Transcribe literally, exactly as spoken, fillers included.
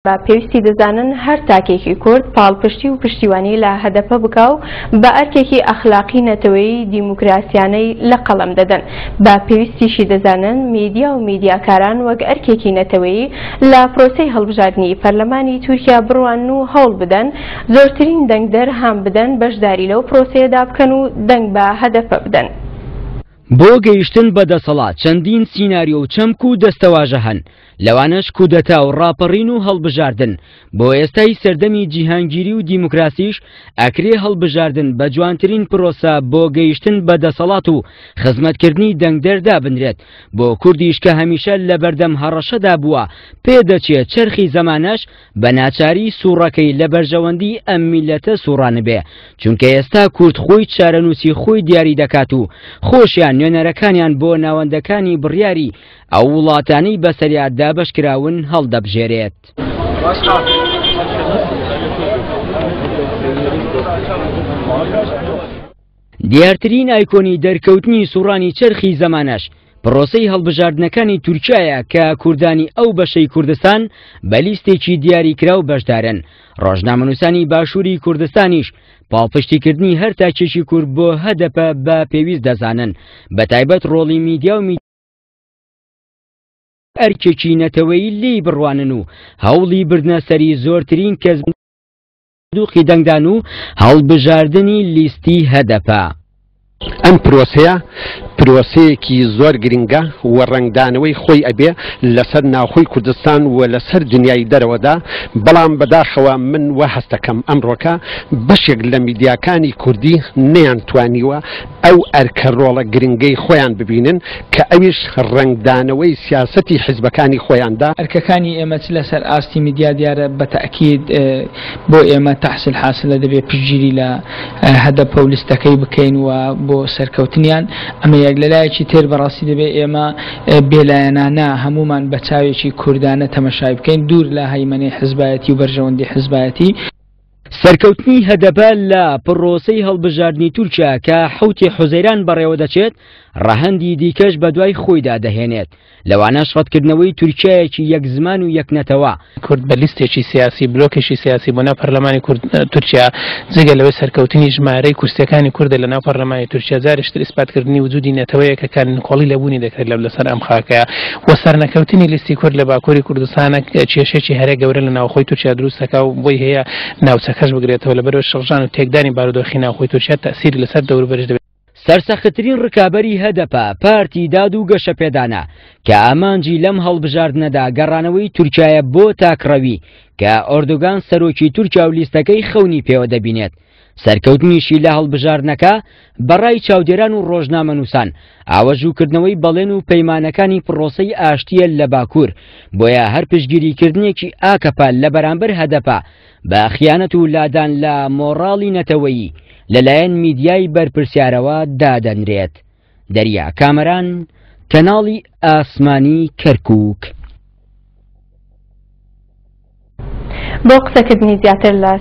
بە پێویستی دەزانن هەر تاکێکی کورد پاڵپشتی و پشتیوانی لە هەدەپە بکا و بە ئەرکێکی ئەخلاقی نەتەوەیی دیموکراسیانەی لە قەڵەم دەدەن. بە پێویستیشی دەزانن میدیا و میدیاکاران وەک ئەرکێکی نەتەوەیی لە پرۆسەی هەڵبژاردنی پەرلەمانی تورکیا بڕوانن و هەوڵ بدەن زۆرترین دەنگدەر هان بدەن بەشداری لەو پرۆسەیەدا بکەن و دەنگ بە هەدەپە بدەن. بۆ گەیشتن بە دەسەڵات چەندین سیناریۆ و چەمک و دەستەواژە هەن، لەوانەش کودەتا و ڕاپەڕین و هەڵبژاردن. بۆ ئێستای سەردەمی جیهانگیری و دیموکراسیش ئەکرێ هەڵبژاردن بە جوانترین پرۆسە بۆ گەیشتن بە دەسەڵات و خزمەتکردنی دەنگدەر دابنرێت. بۆ کوردیش کە هەمیشە لە بەردەم هەڕەشەدا بووە، پێدەچێت چەرخی زەمانەش بە ناچاری سوڕەکەی لە بەرژەوەندی ئەم میلەتە سوڕانبێ، چونکە ئێستا کورد خۆی چارەنووسی خۆی دیاری دەکات و خۆشیان نوێنەرەکانیان بۆ ناوەندەکانی بڕیاری ئەو وڵاتانەی بەسەریا دابەشکراون هەڵدەبژێرێت. دیارترین ئایکۆنی دەرکەوتنی سوڕانی چەرخی زەمانەش پرۆسەی هەڵبژاردنەکانی تورکیایە کە کوردانی ئەو بەشەی کوردستان بە لیستێکی دیاریکراو بەشدارن. ڕۆژنامەنووسانی باشووری کوردستانیش پاڵپشتیکردنی هەر تاکێکی کورد بۆ هەدەپە بە پێویست دەزانن، بە تایبەت ڕۆڵی میدیا و ئەرکێکی نەتەوەیی لێی بڕوانن و هەوڵی بردنە سەری زۆرترین کەس دووقی دەنگدان و هەڵبژاردنی لیستی هەدەپە. ئەم پرۆسەیە پرۆسەیەکی زۆر گرنگە و ڕەنگدانەوەی خۆی ئەبێ لەسەر ناوخۆی کوردستان و لەسەر دنیای دەرەوەدا، بەڵام بەداخەوە من وا هەستەکەم ئەمڕۆکە بەشێک لە میدیاکانی کوردی نەیانتوانیوە ئەو ئەرکە ڕۆڵە گرنگەی خۆیان ببینن کە ئەویش ڕەنگدانەوەی سیاسەتی حیزبەکانی خۆیاندا. ئەرکەکانی ئێمە چ لەسەر ئاستی میدیا دیارە بە تەئکید بۆ ئێمە تەحسیل حاسلە دەبێت پشتگیری لە هەدەپە و لیستەکەی بکەین و بۆ سەرکەوتنیان. ئەمە یەک. لەلایەکی تر بەڕاستی دەبێت ئێمە بێلایەنانە هەمومان بە چاوێکی کوردانە تەمەشای بکەین، دوور لە هەیمەنەی حزبایەتی و بەرژەوەندی حزبایەتی. سەرکەوتنی هەدەپە لە پرۆسەی هەڵبژاردنی تورکیا کە حەوتی حوزەیران بەڕێوە دەچێت ڕەهەندی دیکەش بەدوای خۆیدا دەهێنێت، لەوانەش ڕەتکردنەوەی تورکیایەکی یەک زمان و یەک نەتەوە. کورد بە لیستێکی سیاسی بلۆکێکی سیاسی بۆ ناو پەرلەمانی تورکیا، جگە لەوەی سەرکەوتنی ژمارەی کورسیەکانی کوردە لە ناو پەرلەمانی تورکیا، جارێکتر ئیسپاتکردنی وجودی نەتەوەیەکە کە نکۆڵی لە بوونی دەکرێت لەو لەسەر ئەم خاکەیە و سەرنەکەوتنی لیستی کورد لە باکووری کوردستانە کێشێکی هەرە گەورە لە ناوخۆی تورکیا دروست دەکا و بۆی هەیە ناوچەکەش بگرێتەوە. لەبەرەوە شڵژان و تێکدانی بارودۆخی ناوخۆی تورکیا تەسیری لەسەر دەوروبەرش دەبێت. سەرسەختترین ڕکابەری هەدەپە پارتی داد و گەشەپێدانە کە ئامانجی لەم هەڵبژاردنەدا گەڕانەوەی تورکیایە بۆ تاکڕەوی کە ئۆردوگان سەرۆکی تورکیا و لیستەکەی خەونی پێوە دەبینێت. سەرکەوتنیشی لە هەڵبژاردنەکە بەڕای چاودێران و ڕۆژنامەنووسان ئاوەژووکردنەوەی بەڵێن و پەیمانەکانی پرۆسەی ئاشتیە لە باکوور، بۆیە هەر پشتگیریکردنێکی ئاکەپە لە بەرامبەر هەدەپە بە خیانەت و لادان لە مۆراڵی نەتەوەیی لەلایەن میدیای بەرپرسیارەوە دادەنرێت. دەریا کامەران، کەناڵی ئاسمانی کەرکووک. بۆ قسەکردنی زیاتر لە